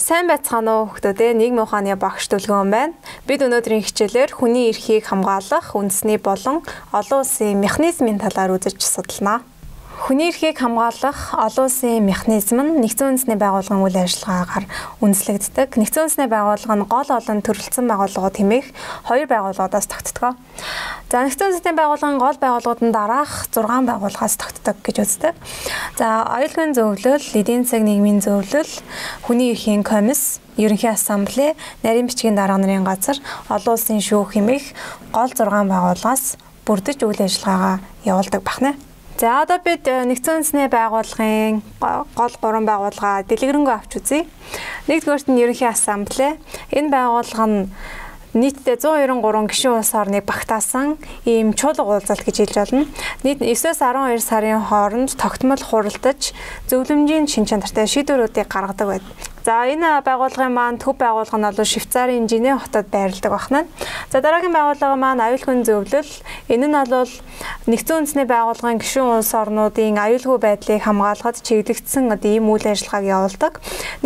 Сайн байцгаана уу хүүхдүүд, нийгмийн ухааны багш Дүлгэн байна. Бид өнөөдрийн хичээлээр хүний эрхийг хамгаалах үндэсний болон олон улсын механизмын талаар үзэж судалнаа. Хүний эрхийг хамгаалах олон улсын механизм нь нэгдсэн үндэсний байгууллагын үйл ажиллагаагаар үндэслэгддэг. Нэгдсэн үндэсний байгууллага нь гол олон төрөлцсөн байгууллагууд хэмээх хоёр байгууллагуудаас тогтдог. За нэгдсэн үндэсний байгууллагын гол байгууллагуудын дараах 6 байгууллагаас тогтдог гэж үздэг. За аюулгүй зөвлөл, эдийн засаг нийгмийн зөвлөл, хүний эрхийн комисс, ерөнхий ассамбле, нарийн бичгийн дарга нарын газар, олон улсын шүүх хэмээх гол 6 байгууллагаас бүрдэж үйл ажиллагаагаа явуулдаг бахна. За одоо бид нэгдсэн үндэсний байгууллагын гол 3 байгууллага дэлгэрэнгүй авч үзье. Нэгдүгээрт нь ерөнхий ассамбле. Энэ байгууллага нь нийтдээ 193 гишүүн улс орныг багтаасан ийм чуулга уулзалт гэж хэлж болно. Нийт 9-12 сарын хооронд тогтмол хуралдаж зөвлөмжийн шин чанартай шийдвэрүүдийг гаргадаг байдаг. За энэ байгууллагын маань төв байгууллага нь бол Швейцарын Женев хотод байрладаг байна. За дараагийн байгууллага маань аюулгүй зөвлөл. Энэ нь бол нэгдсэн үндэсний байгууллагын гишүүн улс орнуудын аюулгүй байдлыг хамгаалахад чиглэгдсэн ийм үйл ажиллагааг явуулдаг.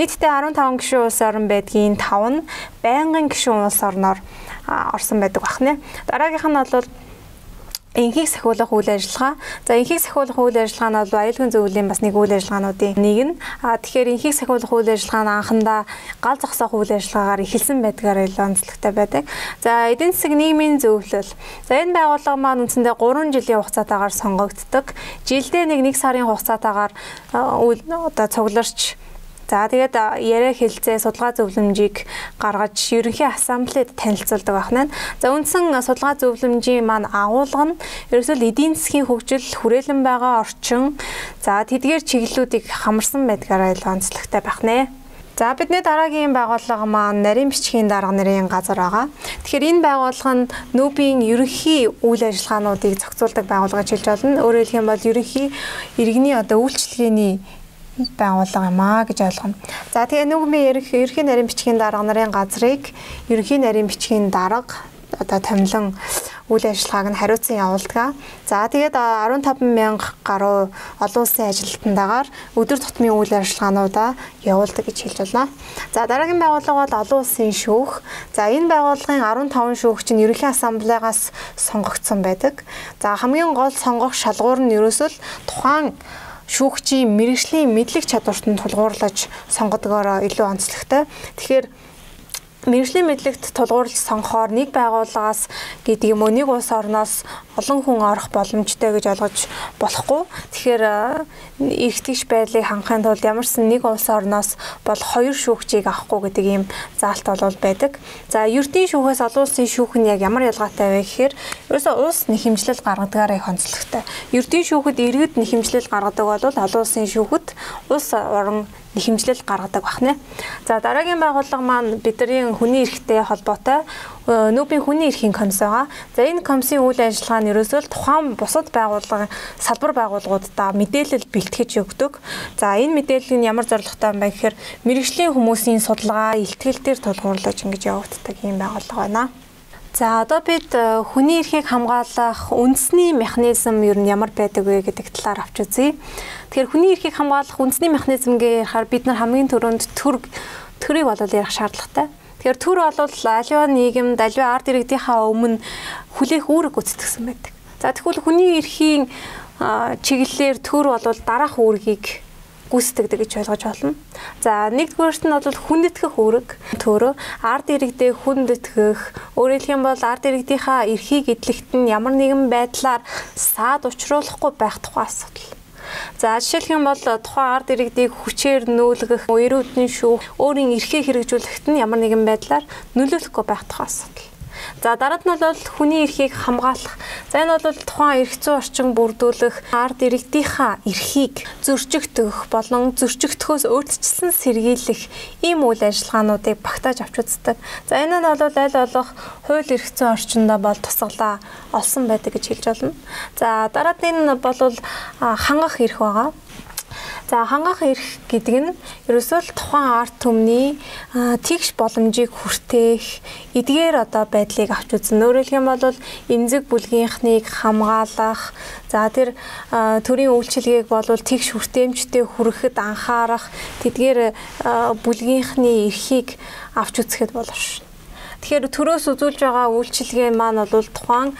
Нийтдээ 15 гишүүн улс орн байдгийн 5 нь байнгын гишүүн улс орноор орсон байдаг байна. Дараагийнх нь бол энхийг сахиулах үйл ажиллагаа. За энхийг сахиулах үйл ажиллагаа нь бол аюулгүй зөвлөлийн бас нэг үйл ажиллагаануудын нэг нь. Тэгэхээр энхийг сахиулах үйл ажиллагаа нь анхандаа гал зогсоох үйл ажиллагаагаар эхэлсэн байдгаар онцлогтой байдаг. За эдийн засаг нийгмийн зөвлөл. За энэ байгууллага маань үндсэндээ 3 жилийн хугацаатаагаар сонгогддог. Жилдээ 1 сарын хугацаатаагаар цугларч за тэгээд яриа хэлцээ судалгаа зөвлөмжийг гаргаж ерөнхий ассамблед танилцуулдаг байна. За үндсэн судалгаа зөвлөмжийн маань агуулга нь ерөөсөө эдийн засгийн хөгжил, хүрээлэн байгаа орчин, за тэдгээр чиглэлүүдийг хамарсан байдгаараа онцлогтой байна. За бидний дараагийн байгууллага маань нарийн бичгийн дарга нарын газар байгаа. Тэгэхээр энэ байгууллага нь нүүбийн ерөнхий үйл ажиллагаануудыг зохицуулдаг байгууллага гэж хэлж болно. Өөрөөр хэлэх юм бол ерөнхий иргэний үйлчлэгээний байгууллага юм аа гэж ойлгоно. За тэгээ нүүбийн ерөнхий нарийн бичгийн дарга нарын газрыг ерөнхий нарийн бичгийн дарга томилон үйл ажиллагааг нь хариуцсан явуулдаг. За тэгээд 15,000 гаруй олон улсын ажилтнаагаар өдөр тутмын үйл ажиллагаануудаа явуулдаг гэж хэлж байна. За дараагийн байгууллага бол олон улсын шүүх. За энэ байгууллагын 15 шүүгч нь ерөнхий ассамблеагаас сонгогдсон байдаг. За хамгийн гол сонгох шалгуур нь ерөөсөө тухайн шүүгчийн мэргэжлийн мэдлэг чадварт нь тулгуурлаж сонгодгоороо илүү онцлогтой. Тэгэхээр мэргэжлийн мэдлэгт тулгуурлаж сонгохоор нэг байгууллагаас гэдэг юм уу нэг улс орноос олон хүн орох боломжтой гэж ойлгож болохгүй. Тэгэхээр эргэтгэж байдлыг хангахын тулд ямарсан нэг улс орноос бол 2 шүүгчийг авахгүй гэдэг ийм заалт бол байдаг. За ердийн шүүхээс олон улсын шүүх нь яг ямар ялгаатай вэ гэхээр ерөөсөө улс нэхэмжлэл гаргадагаараа их онцлогтой. Ердийн шүүхэд иргэд нэхэмжлэл гаргадаг бол олон улсын шүүхэд улс орон нэхэмжлэл гаргадаг байна. За дараагийн байгууллага маань бидний хүний эрхтэй холбоотой нүүбийн хүний эрхийн комисс байгаа. За энэ комиссийн үйл ажиллагаа нь ерөөсөө тухайн бусад байгууллагын салбар байгууллагуудаа мэдээлэл бэлтгэж өгдөг. За энэ мэдээлэл нь ямар зорилготой юм бэ гэхээр мэргэжлийн хүмүүсийн судалгаа, илтгэл дээр тулгуурлаж ингэж явагддаг ийм байгууллага байна. За одоо бид хүний эрхийг хамгаалах үндэсний механизм ер нь ямар байдаг вэ гэдэг талаар авч үзье. Тэгэхээр хүний эрхийг хамгаалах үндэсний механизм гэхээр бид нар хамгийн түрүүнд төрийг болол ярих шаардлагатай. Тэгэхээр төр бол аливаа нийгэмд аливаа ард иргэдийнхаа өмнө хүлээх үүрэг гүйцэтгэсэн байдаг. За тэгвэл хүний эрхийн чиглэлээр төр бол дараах үүргийг гүйцэтгэдэг гэж ойлгож байна. За нэгдүгээрт нь бол хүндэтгэх үүрэг. Төрөө ард иргэдэд хүндэтгэх, өөрөөр хэлэх юм бол ард иргэдийнхаа эрхийг эдлэхт нь ямар нэгэн байдлаар саад учруулахгүй байх тухай асуудал. За жишээлх юм бол тухайн ард иргэдийг хүчээр нүүлгэх, эрүүдний шүүх, өөрийн эрхээ хэрэгжүүлэхэд нь ямар нэгэн байдлаар нөлөөлөхгүй байх тухай асуудал. За дараад нь бол хүний эрхийг хамгаалах. За энэ бол тухайн эрх зүйн орчин бүрдүүлэх, ард иргэдийнхаа эрхийг зөрчигдөх болон зөрчигдөхөөс өөрчлөлтсөн сэргийлэх ийм үйл ажиллагаануудыг багтааж авч үздэг. За энэ нь бол аль болох хууль эрх зүйн орчиндөө бол тусгалаа олсон байдаг гэж хэлж болно. За дараад нь бол хангах эрх байгаа. За хангах эрх гэдэг нь ерөөсөө л тухайн арт түмний тэгш боломжийг хүртээх эдгээр байдлыг авч үзнэ. Өөрөөр хэлэх юм бол эмзэг бүлгийнхнийг хамгаалах, за тэр төрийн үйлчилгээг бол тэгш хүртээмжтэй хүрэхэд анхаарах, тэдгээр бүлгийнхний эрхийг авч үзэхэд боловч. Тэгэхээр төрөөс үзүүлж байгаа үйлчилгээ маань бол тухайн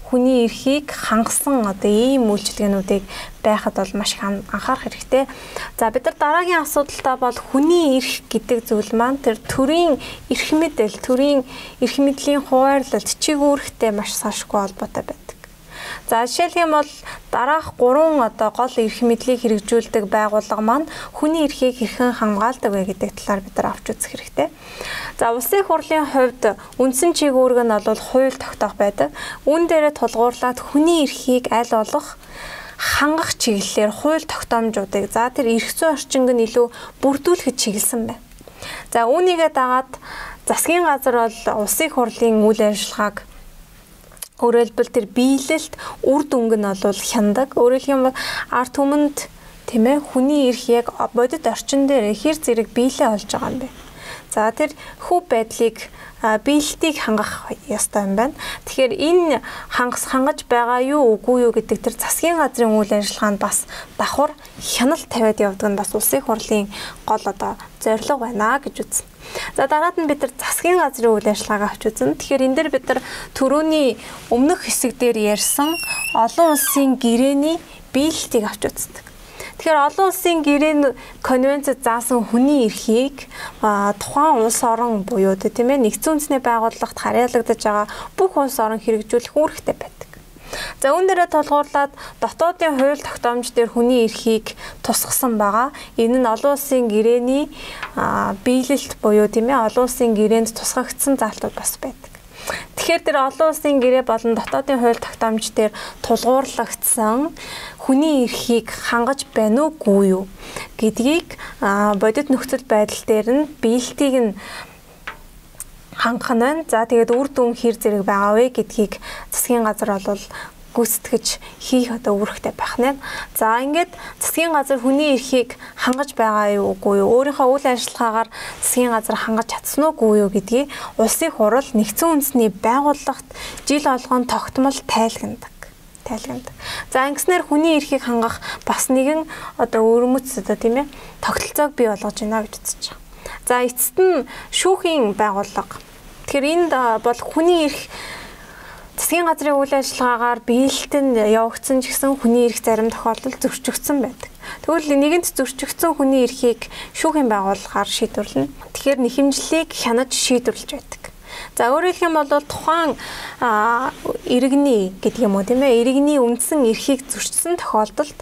хүний эрхийг хангасан ийм үйлчилгээнүүдийг байхад бол маш их анхаарах хэрэгтэй. За бид нар дараагийн асуудалтай бол хүний эрх гэдэг зүйл маань тэр төрийн эрх мэдэл, төрийн эрх мэдлийн хуваарлалт чигүүрхтэй маш салшгүй холбоотой байдаг. За жишээлх юм бол дараах 3 гол эрх мэдлийг хэрэгжүүлдэг байгууллага маань хүний эрхийг хэрхэн хамгаалдаг вэ гэдэг талаар бид нар авч үзэх хэрэгтэй. За улсын хурлын хувьд үндсэн чиглэлг нь бол хууль тогтоох байдаг. Үүн дээрээ тулгуурлаад хүний эрхийг аль болох хангах чиглэлээр хууль тогтоомжуудыг за тэр эрх зүйн орчинг нь илүү бүрдүүлэхэд чиглэсэн байна. За үүнийгээ дагаад засгийн газар бол улсын хурлын үйл ажиллагааг өөрөлдвөл тэр биелэлт үр дүнг нь бол хяндаг. Өөрөөр хэлбэл арт түмэнд тийм ээ хүний эрх яг бодит орчин дээр хэр зэрэг биелээ олж байгаа юм бэ. За тэр хөв байдлыг биелэлтийг хангах ёстой юм байна. Тэгэхээр энэ хангаж байгаа юу үгүй юу гэдэг тэр засгийн газрын үйл ажиллагаанд бас давхар хяналт тавиад явдаг нь бас улсын хурлын гол зорилго байна гэж үзнэ. За дараад нь бид нар засгийн газрын үйл ажиллагааг авч үзнэ. Тэгэхээр энэ дээр бид нар түрүүний өмнөх хэсэг дээр ярьсан олон улсын гэрээний биелэлтийг авч үздэг. Тэгэхээр олон улсын гэрээний конвенцэд заасан хүний эрхийг тухайн улс орон буюу тийм ээ нэгдсэн үндэсний байгууллагт харьяалагдаж байгаа бүх улс орон хэрэгжүүлэх үүрэгтэй байдаг. За үүн дээрээ тулгуурлаад дотоодын хууль тогтоомж дээр хүний эрхийг тусгасан байгаа. Энэ нь олон улсын гэрээний биелэлт буюу тийм ээ олон улсын гэрээнд тусгагдсан заалтууд бас байдаг. Тэгэхээр тэр олон улсын гэрээ болон дотоодын хууль тогтоомж дээр тулгуурлагдсан хүний эрхийг хангаж байна уугүй юу гэдгийг бодит нөхцөл байдал дээр нь биелэлтийг нь хангах нь байна. За тэгээд үр дүн хэр зэрэг байгаа вэ гэдгийг засгийн газар бол гүйцэтгэж хийх үүрэгтэй байх нь. За ингээд засгийн газар хүний эрхийг хангаж байгаа юу үгүй юу, өөрийнхөө үйл ажиллагаагаар засгийн газар хангаж чадсан уугүй юу гэдгийг улсын хурал нэгдсэн үндэсний байгууллагт жил болгон тогтмол тайлгнадаг. За ингэснээр хүний эрхийг хангах бас нэгэн өрмөц тийм ээ тогтолцоог бий болгож байна гэж үзэж байгаа. За эцэст нь шүүхийн байгууллага. Тэгэхээр энд бол хүний эрх засгийн газрын үйл ажиллагаагаар биелэлтэнд явагдсан ч гэсэн хүний эрх зарим тохиолдолд зөрчигдсөн байдаг. Тэгвэл нэгэнт зөрчигдсөн хүний эрхийг шүүхийн байгууллагаар шийдвэрлэнэ. Тэгэхээр нэхэмжлэлийг хянаж шийдвэрлэж байдаг. За өөрөөр хэлэх юм бол тухайн иргэний гэдэг юм уу тийм ээ иргэний үндсэн эрхийг зөрчсөн тохиолдолд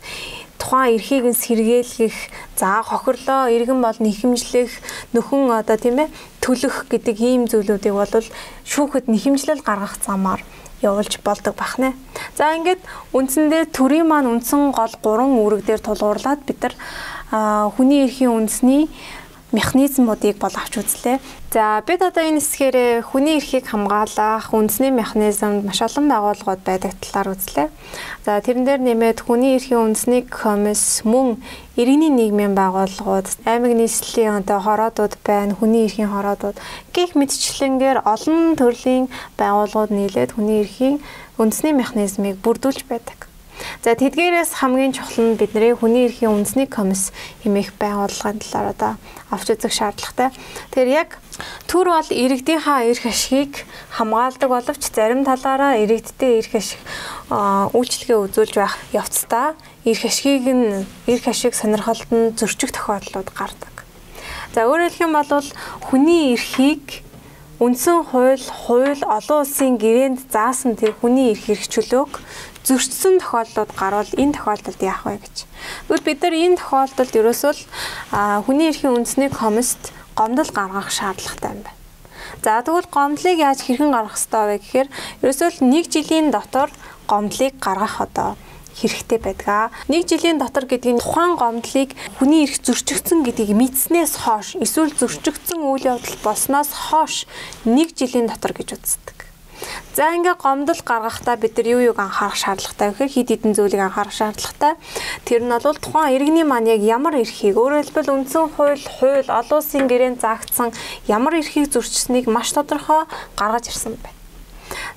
тухайн эрхийг нь сэргээлэх, за хохирлоо, иргэн бол нэхэмжлэх, нөхөн тийм ээ төлөх гэдэг ийм зүйлүүдийг бол шүүхэд нэхэмжлэл гаргах замаар явуулж болдог бахнэ. За ингээд үндсэндээ төрийн маань үндсэн гол 3 үүрэг дээр тулгуурлаад бид нар хүний эрхийн үндэсний механизмуудыг бол авч үзлээ. За бид энэ хэсгээр хүний эрхийг хамгаалах үндэсний механизмд маш олон байгууллагууд байдаг талаар үзлээ. За тэрэн дээр нэмээд хүний эрхийн үндэсний комисс, мөн иргэний нийгмийн байгууллагууд, аймаг нийслэлийн хороодууд байна, хүний эрхийн хороодууд гэх мэтчлэнгээр олон төрлийн байгууллагууд нийлээд хүний эрхийн үндэсний механизмыг бүрдүүлж байдаг. За тэдгээрээс хамгийн чухал нь бидний хүний эрхийн үндэсний комисс хэмээх байгууллагын талаар авч үзэх шаардлагатай. Тэгэхээр яг төр бол иргэдийнхаа эрх ашигыг хамгаалдаг боловч зарим талаараа иргэдтэй эрх ашиг үйлчлэгээ үзүүлж байх явцдаа эрх ашиг сонирхолд нь зөрчих тохиолдлууд гардаг. За өөрөөр хэлэх юм бол хүний эрхийг үндсэн хууль олон улсын гэрээнд заасан тэр хүний эрх хэрэгчлөөг зөрчсөн тохиолдлууд гарвал энэ тохиолдолд яах вэ гэж. Тэгвэл бид нар энэ тохиолдолд ерөөсөө хүний эрхийн үндэсний комист гомдол гаргах шаардлагатай юм байна. За тэгвэл гомдлыг яаж хэрхэн гаргах ёстой вэ гэхээр ерөөсөө 1 жилийн дотор гомдлыг гаргах хэрэгтэй байдаг. 1 жилийн дотор гэдэг нь тухайн гомдлыг хүний эрх зөрчигдсөн гэдгийг мэдснээс хойш эсвэл зөрчигдсөн үйл явдал болсноос хойш 1 жилийн дотор гэж үздэг. За ингээ гомдол гаргахдаа бид нар юуг анхаарах шаардлагатай вэ гэхээр хид хідэн зүйлийг анхаарах шаардлагатай. Тэр нь бол тухайн иргэний маань яг ямар эрхийг өөрөөр хэлбэл үндсэн хууль олон улсын гэрээнд заагдсан ямар эрхийг зөрчсөнийг маш тодорхой гаргаж ирсэн байна.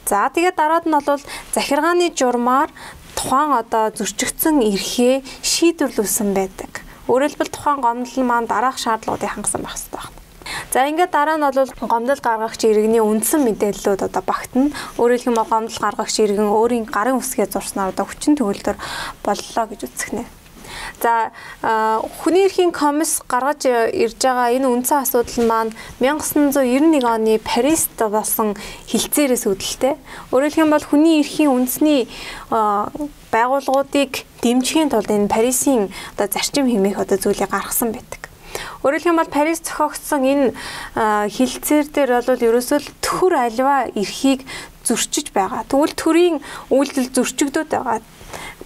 За тэгээд дараад нь бол захиргааны журмаар тухайн зөрчигдсөн эрхээ шийдвэрлүүлсэн байдаг. Өөрөөр хэлбэл тухайн гомдол маань дараах шаардлагуудыг хангасан байх хэрэгтэй байна. За ингээд дараа нь бол гомдол гаргагч иргэний үндсэн мэдээллүүд багтана. Өөрөөр хэлбэл гомдол гаргагч иргэн өөрийн гарын үсгээ зурснаар хүчин төгөлдөр боллоо гэж үзэх нэ. За хүний эрхийн комисс гаргаж ирж байгаа энэ үндсэн асуудал маань 1991 оны Парист болсон хилцээрээс үүдэлтэй. Өөрөөр хэлбэл хүний эрхийн үндэсний байгууллагуудыг дэмжихийн тулд энэ Парисын зарчим хэмээх зүйлийг гаргасан байдаг. Өөрөөр хэлбэл Парис зохиогдсон энэ хилцээр дээр бол ерөөсөө төр альва эрхийг зөрчиж байгаа. Тэгвэл төрийн үйлдэл зөрчигдөд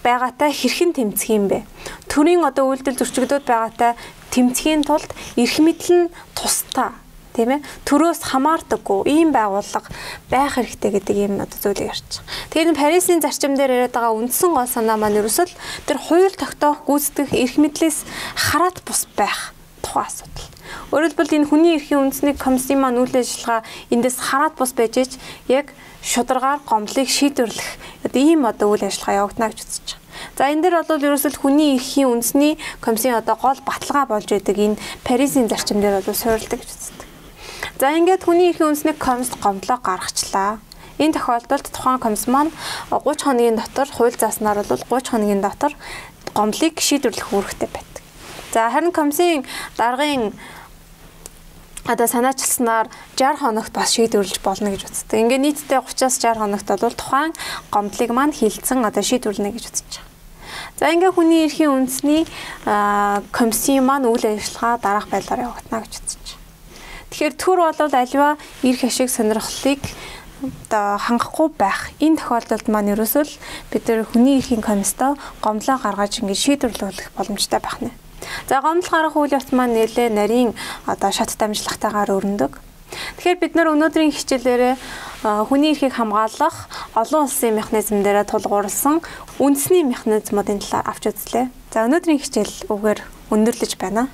байгаатай хэрхэн тэмцэх юм бэ? Төрийн үйлдэл зөрчигдөд байгаатай тэмцэхийн тулд эрх мэдэл нь тусдаа, тийм ээ? Төрөөс хамаардаггүй ийм байгууллага байх хэрэгтэй гэдэг ийм зүйлийг ярьж байгаа. Тэгэхээр Парисын зарчим дээр яриад байгаа үндсэн гол санаа маань ерөөсөө тэр хууль тогтоох гүйцэтгэх эрх мэдлээс хараат бус байх тухайн асуудал. Өөрөөр хэлбэл энэ хүний эрхийн үндэсний комиссийн маань үйл ажиллагаа эндээс хараат бус байж яг шударгаар гомдлыг шийдвэрлэх ийм үйл ажиллагаа явагдана гэж үзэж байгаа. За энэ дээр бол ерөөсөл хүний эрхийн үндэсний комиссийн гол баталгаа болж байдаг энэ Парисын зарчим дээр суурилдаг гэж үздэг. За ингээд хүний эрхийн үндэсний комисс гомдлоо гаргачлаа. Энэ тохиолдолд тухайн комисс маань 30 хоногийн дотор хууль зааснаар бол 30 хоногийн дотор гомдлыг шийдвэрлэх үүрэгтэй байдаг. За харин комиссийн даргын санаачилснаар 60 хоногт бас шийдвэрлэж болно гэж үздэг. Ингээ нийтдээ 30-аас 60 хоногт бол тухайн гомдлыг маань хилцэн шийдвэрлэнэ гэж үзэж байгаа. За ингээ хүний эрхийн үндэсний комиссийн маань үйл ажиллагаа дараах байдлаар явагдана гэж үзэж байгаа. Тэгэхээр төр бол аливаа эрх ашиг сонирхлыг хангахгүй байх. Энэ тохиолдолд маань ерөөсөө бид нар хүний эрхийн комисстой гомдлоо гаргаж ингээ шийдвэрлэх боломжтой байх нэ. За гомдол гаргах үйл явц маань нэлээ нарийн шат дамжлагтайгаар өрнөдөг. Тэгэхээр бид нар өнөөдрийн хичээлээрээ хүний эрхийг хамгаалах олон улсын механизм дээр тулгуурласан үндэсний механизмуудын талаар авч үзлээ. За өнөөдрийн хичээл үгээр өндөрлөж байна.